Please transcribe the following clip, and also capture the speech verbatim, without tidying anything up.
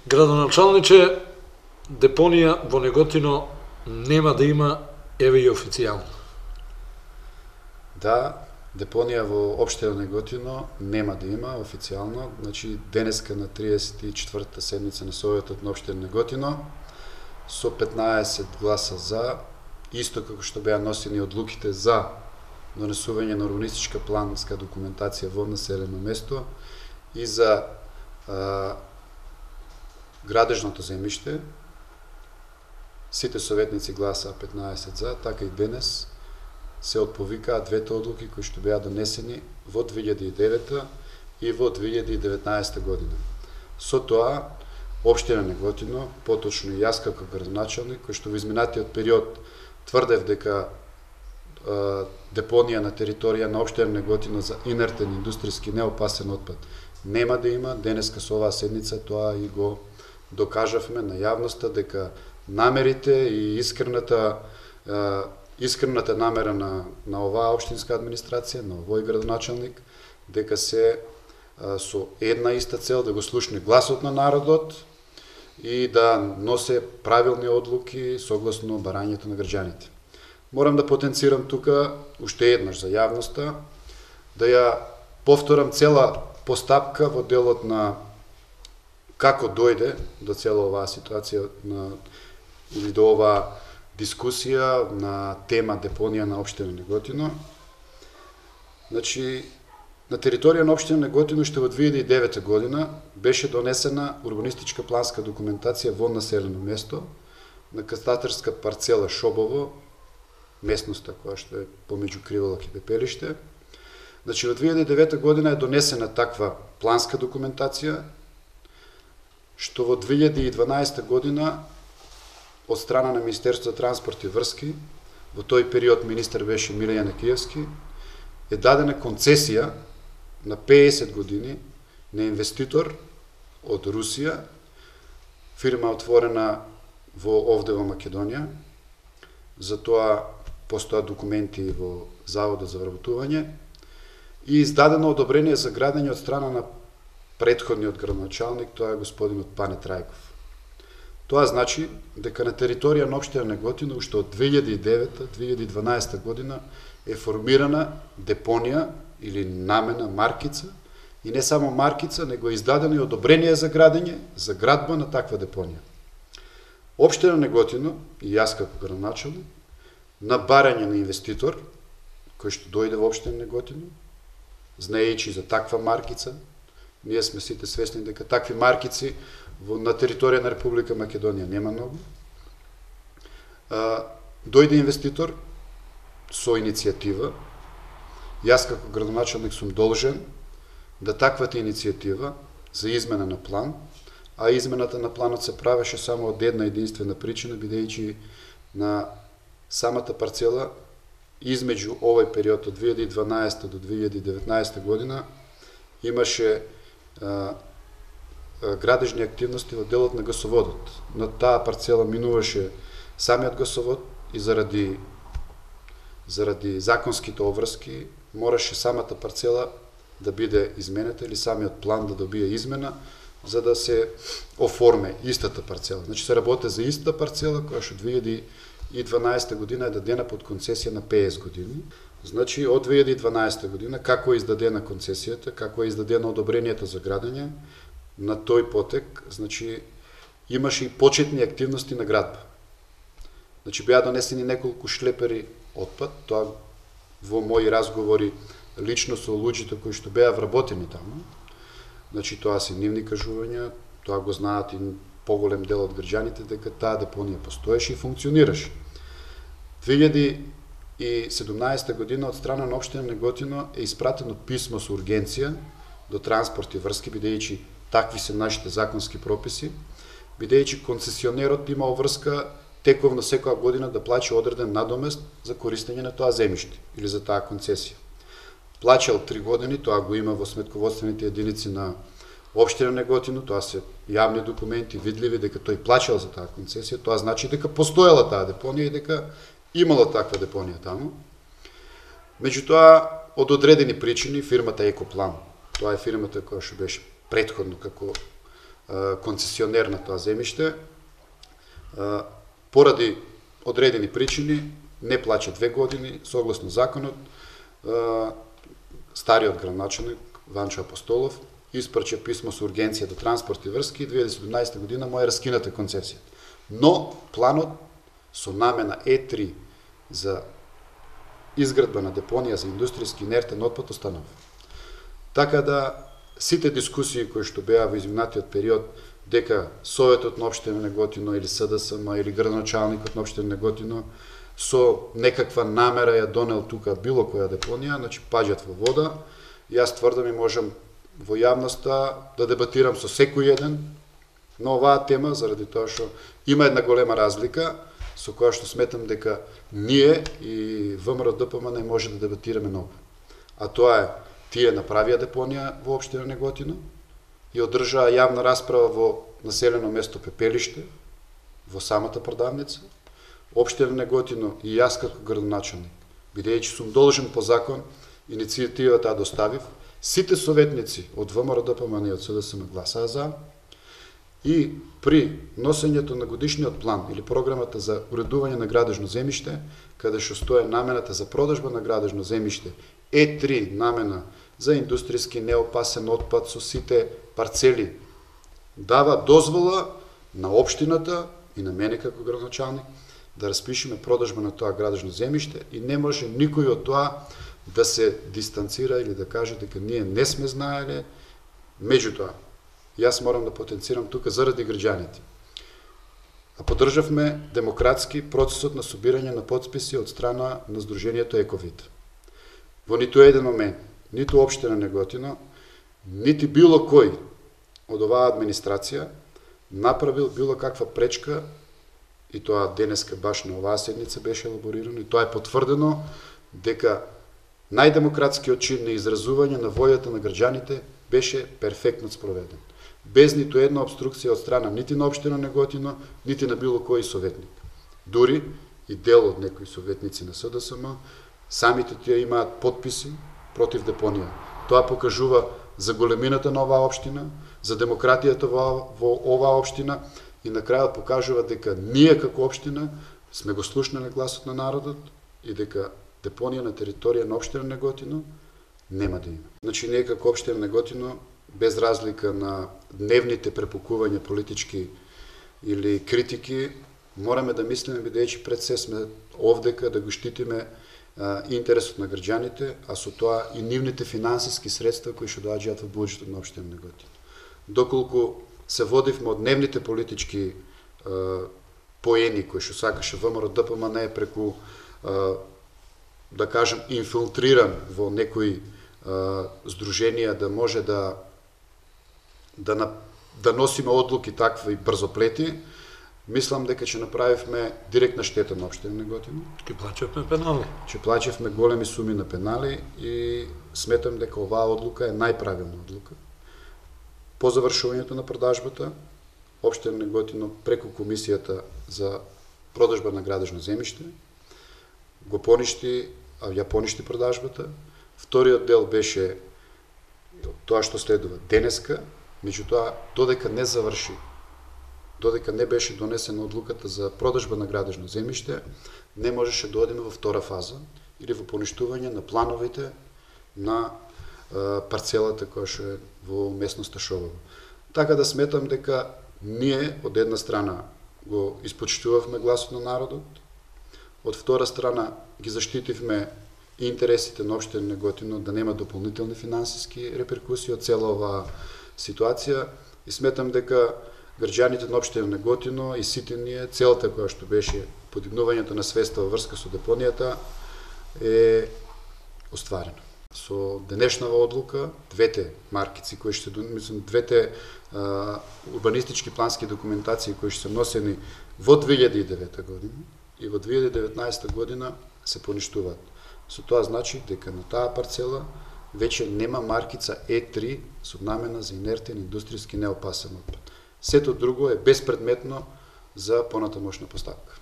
Градоначалниче, депонија во Неготино нема да има, еве и официјално. Да, депонија во општина Неготино нема да има официјално, значи денеска на триесет и четвртата седница на Советот на општина Неготино со петнаесет гласа за, исто како што беа носени одлуките за донесување на урбанистичка планска документација во населено место и за а, градежното земјиште, сите советници гласаа петнаесет за, така и денес се отповикаат двете одлуки кои што беа донесени во две илјади и девета и во две илјади и деветнаесета година. Со тоа, општина Неготино, поточно и јас како градоначалник, кој што во изминатиот период тврдев дека е, депонија на територија на општина Неготино за инертен индустријски неопасен отпад нема да има, денеска со оваа седница тоа и го докажавме на јавноста дека намерите и искрената е, искрената намера на на оваа општинска администрација, на овој градоначалник, дека се е, со една иста цел да го слушне гласот на народот и да носе правилни одлуки согласно барањето на граѓаните. Морам да потенцирам тука уште еднаш за јавноста да ја повторам цела постапка во делот на како дојде до цела оваа ситуација на или до оваа дискусија на тема депонија на општина Неготино. Значи, на територија на општина Неготино уште во две илјади и девета година беше донесена урбанистичка планска документација во населено место на катастарска парцела Шобово, местноста која што е помеѓу Криволак и Пепелиште. Значи, во две илјади и девета година е донесена таква планска документација, што во две илјади и дванаесета година од страна на Министерството за транспорт и врски, во тој период министер беше Миле Јанакиевски, е дадена концесија на пеесет години на инвеститор од Русија, фирма отворена во овде во Македонија. За тоа постојат документи во Заводот за вработување и издадено одобрение за градење од страна на претходниот градоначалник, тоа е господинот Пане Трајков. Тоа значи дека на територија на општина Неготино уште од две илјади и девета - две илјади и дванаесета година е формирана депонија или намена маркица и не само маркица, него е издадено и одобрение за градење, за градба на таква депонија. Општина Неготино и јас како градоначалник на барање на инвеститор кој што дојде во општина Неготино, знаејќи за таква маркица, ние сме сите свесни дека такви маркици во на територија на Република Македонија нема многу. А, дојде инвеститор со иницијатива. Јас како градоначалник сум должен да таквата иницијатива за измена на план, а измената на планот се правеше само од една единствена причина, бидејќи на самата парцела измеѓу овој период од две илјади и дванаесета до две илјади и деветнаесета година имаше а, градежни активности во делот на гасоводот. На таа парцела минуваше самиот гасовод и заради заради законските обврски мораше самата парцела да биде изменета или самиот план да добие измена за да се оформе истата парцела. Значи се работи за истата парцела која што две илјади и дванаесета година е дадена под концесија на пеесет години. Значи од две илјади и дванаесета година како е издадена концесијата, како е издадено одобрението за градење, на тој потек, значи, имаше и почетни активности на градба. Значи, беа донесени неколку шлепери отпад, тоа во мои разговори лично со луѓето кои што беа вработени таму. Значи, тоа се нивни кажувања, тоа го знаат и поголем дел од граѓаните дека таа депонија постоеше и функционираше. две илјади и седумнаесета година од страна на општина Неготино е испратено писмо со ургенција до транспорт и врски, бидејќи такви се нашите законски прописи, бидејќи концесионерот има обврска тековно секоја година да плаче одреден надомест за користење на тоа земјиште или за таа концесија. Плачел три години, тоа го има во сметководствените единици на општина Неготино, тоа се јавни документи, видливи дека тој плачел за таа концесија, тоа значи дека постоела таа депонија и дека имало таква депонија таму. Меѓутоа, од одредени причини, фирмата Екоплан, тоа е фирмата која што беше претходно како концесионер на тоа земјиште, поради одредени причини не плаќа две години, согласно законот. Стариот градоначелник Ванчо Апостолов испрача писмо со ургенција до транспорт и врски и две илјади и седумнаесета година му е раскината концесија. Но планот со намена Е три за изградба на депонија за индустријски инертен отпад останува. Така да сите дискусии кои што беа во изминатиот период дека Советот на општина Неготино или С Д С М или градоначалникот на општина Неготино со некаква намера ја донел тука било која депонија, значи паѓат во вода. Јас тврдам и можам во јавноста да дебатирам со секој еден на оваа тема, заради тоа што има една голема разлика со која што сметам дека ние и В М Р Д П М не може да дебатираме ново. А тоа е, тие направија депонија во општина Неготино и одржаа јавна расправа во населено место Пепелиште, во самата продавница. Општина Неготино и јас како градоначелник, бидејќи сум должен по закон, иницијативата ја доставив, сите советници од В М Р Д П М и од С Д С М гласаа за, и при носењето на годишниот план или програмата за уредување на градежно земјиште, каде што стои намената за продажба на градежно земјиште, Е три намена за индустријски неопасен отпад со сите парцели, дава дозвола на општината и на мене како градоначалник да распишеме продажба на тоа градежно земјиште и не може никој од тоа да се дистанцира или да каже дека ние не сме знаеле. Меѓутоа, јас морам да потенцирам тука заради граѓаните. А поддржавме демократски процесот на собирање на потписи од страна на Сдруженијето Ековид. Во ниту еден момент, ниту општина Неготино, нити било кој од оваа администрација направил било каква пречка, и тоа денеска баш на оваа седница беше елаборирано, и тоа е потврдено дека најдемократскиот чин на изразување на војата на граѓаните беше перфектно спроведен. Без ниту една обструкција од страна нити на општина Неготино, нити на било кој советник. Дури и дел од некои советници на С Д С М, самите тие имаат подписи против депонија. Тоа покажува за големината на оваа општина, за демократијата во, во оваа општина и на крајот покажува дека ние како општина сме го слушнале гласот на народот и дека депонија на територија на општина Неготино нема да има. Значи ние како општина Неготино, без разлика на дневните препукувања политички или критики, мораме да мислиме, бидејќи пред се сме овдека да го штитиме а, интересот на граѓаните, а со тоа и нивните финансиски средства кои што доаѓаат во буџетот на општина Неготино. Доколку се водивме од дневните политички а, поени кои што сакаше В М Р Д П М не преку а, да кажем инфилтриран во некои а, здруженија да може да да на, да носиме одлуки такви брзоплети, мислам дека ќе направивме директна штета на општина Неготино. Ќе плаќавме пенали. Ќе плаќавме големи суми на пенали и сметам дека оваа одлука е најправилна одлука. По завршувањето на продажбата, општина Неготино преку комисијата за продажба на градежно земјиште го поништи, а ја поништи продажбата. Вториот дел беше тоа што следува денеска, меѓутоа додека не заврши, додека не беше донесена одлуката за продажба на градежно земјиште, не можеше да одиме во втора фаза или во поништување на плановите на а, парцелата која што е во местноста Шобово. Така да сметам дека ние од една страна го испочитувавме гласот на народот, од втора страна ги заштитивме интересите на општина Неготино да нема дополнителни финансиски реперкусии од цела оваа ситуација и сметам дека граѓаните на општина Неготино и сите ние, целта која што беше подигнувањето на свеста во врска со депонијата е остварено. Со денешнава одлука, двете маркици кои што мислам двете а, урбанистички плански документации кои што се носени во две илјади и девета година и во две илјади и деветнаесета година се поништуваат. Со тоа значи дека на таа парцела веќе нема маркица Е три со намена за инертен индустријски неопасен отпад. Сето друго е безпредметно за понатамошна поставка.